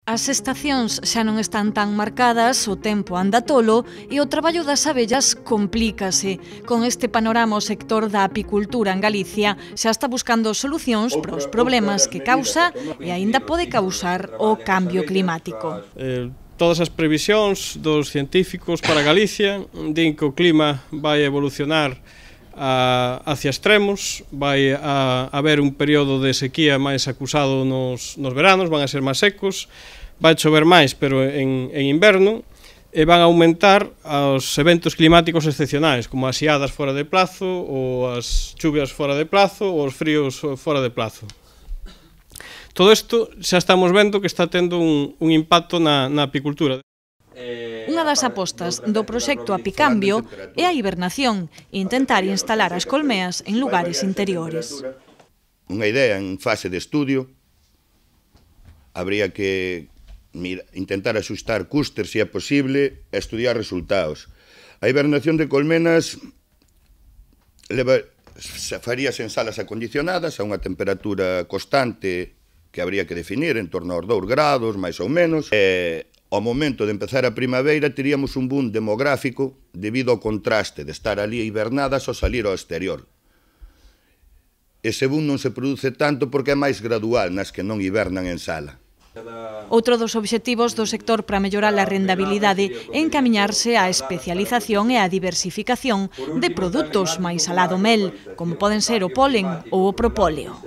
As estacións xa non están tan marcadas, o tempo anda tolo e o traballo das abellas complícase. Con este panorama o sector da apicultura en Galicia xa está buscando solucións para os problemas que causa e aínda pode causar o cambio climático. Todas as previsións dos científicos para Galicia din que o clima vai evolucionar hacia extremos, vai haber un período de sequía máis acusado nos veranos, van a ser máis secos, vai chover máis, pero en inverno, e van a aumentar os eventos climáticos excepcionais, como as xeadas fora de plazo, ou as chuvias fora de plazo, ou os fríos fora de plazo. Todo isto xa estamos vendo que está tendo un impacto na apicultura. Unha das apostas do proxecto Apicambio é a hibernación e intentar instalar as colmeas en lugares interiores. Unha idea en fase de estudio, habría que intentar axustar custes se é posible e estudiar resultados. A hibernación de colmenas faríase en salas acondicionadas a unha temperatura constante que habría que definir en torno aos 2 grados, máis ou menos. Ao momento de empezar a primavera teríamos un boom demográfico debido ao contraste de estar ali hibernadas ao salir ao exterior. Ese boom non se produce tanto porque é máis gradual nas que non hibernan en sala. Outro dos obxectivos do sector para mellorar a rendabilidade é encamiñarse á especialización e á diversificación de produtos máis alá do mel, como poden ser o polen ou o propóleo.